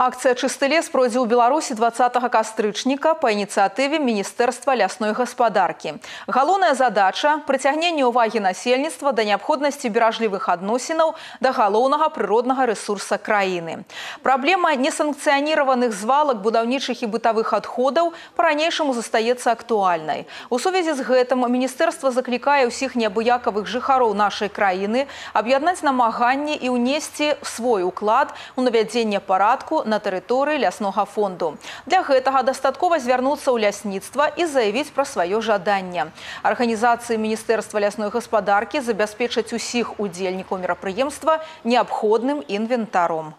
Акция «Чысты лес» пройдзе ў Беларусі 20 кастрычніка па ініцыятыве Міністэрства лясной гаспадаркі. Галоўная задача – прыцягненне ўвагі насельніцтва да неабходнасці беражлівых адносінаў да галоўнага прыроднага рэсурса краіны. Праблема несанкцыяніраваных звалак будаўнічых і бытавых адходаў па-ранейшаму застаецца актуальнай. У сувязі з гэтым Міністэрства заклікае ўсіх неабыякавых жыхароў нашай краіны аб'яднаць намаганні і ўнесці свой уклад у навядзенне парадку на тэрыторыі ляснога фонду. Для гэтага дастаткова звярнуцца ў лясніцтва і заявіць пра сваё жаданне. Арганізацыі Міністэрства лясной гаспадаркі забяспечаць усіх удзельнікаў мерапрыемства неабходным інвентаром.